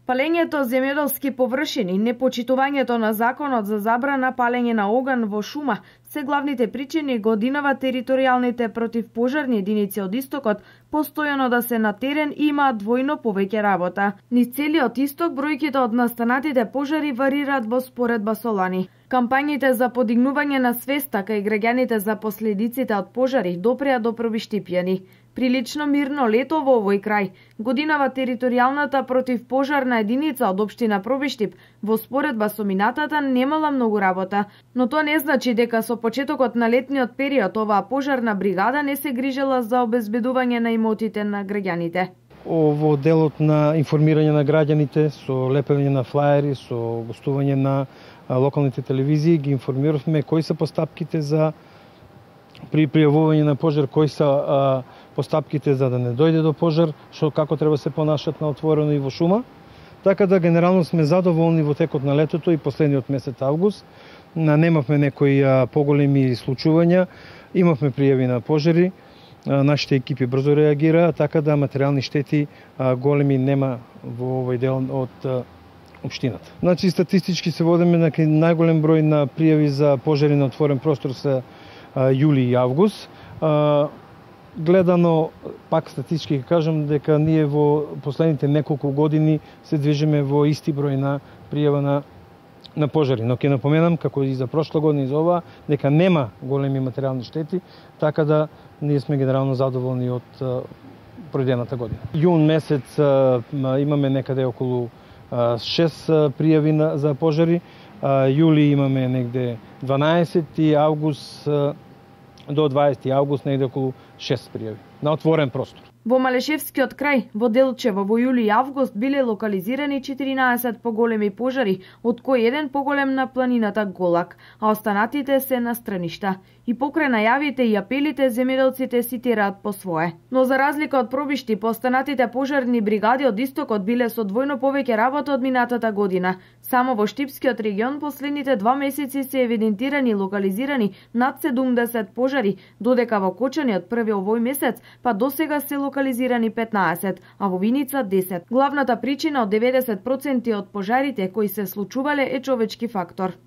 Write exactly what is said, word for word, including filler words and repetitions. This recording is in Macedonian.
Палењето земјоделски површини, непочитувањето на законот за забрана палење на оган во шума се главните причини годинава територијалните противпожарни единици од истокот постојано да се на терен и имаат двојно повеќе работа. Низ целиот исток бројките од настанатите пожари варираат во споредба со лани. Кампањите за подигнување на свеста кај граѓаните за последиците од пожари допреа до Пробиштипјани. Прилично мирно лето во овој крај. Годинава територијалната противпожарна единица од општина Пробиштип во споредба со минатата немала многу работа, но тоа не значи дека со почетокот на летниот период оваа пожарна бригада не се грижела за обезбедување на имотите на граѓаните. Во делот на информирање на граѓаните со лепење на флаери, со гостување на локалните телевизии ги информиравме кои се постапките за при пријавување на пожар, кои се а, постапките за да не дојде до пожар, што како треба се понашат на отворено и во шума. Така да генерално сме задоволни во текот на летото и последниот месец август. Немавме некои а, поголеми случувања, имавме пријави на пожари, а, нашите екипи брзо реагираа, така да материјални штети а, големи нема во овој дел од а, општината. Значи статистички се водиме на најголем број на пријави за пожари на отворен простор се јули и август. Гледано, пак статистички кажам дека ние во последните неколку години се движиме во исти број на пријава на, на пожари. Но ќе напоменам, како и за прошла година и за ова, дека нема големи материјални штети, така да ние сме генерално задоволни од пројдената година. Јун месец имаме некаде околу шест пријави на, за пожари, јули имаме негде дванаесет и август до дваесети август негде околу шест пријави на отворен простор. Во Малешевскиот крај, во Делчево, во јули и август биле локализирани четиринаесет поголеми пожари, од кои еден поголем на планината Голак, а останатите се на страништа. И покрај најавите и апелите, земјоделците си тераат по свое. Но за разлика од Пробиштип, останатите пожарни бригади од истокот биле со двојно повеќе работа од минатата година. Само во Штипскиот регион последните два месеци се евидентирани и локализирани над седумдесет пожари, додека во Кочани од први овој месец, па досега се локализирани петнаесет, а во Виница десет. Главната причина од деветдесет проценти од пожарите кои се случувале е човечки фактор.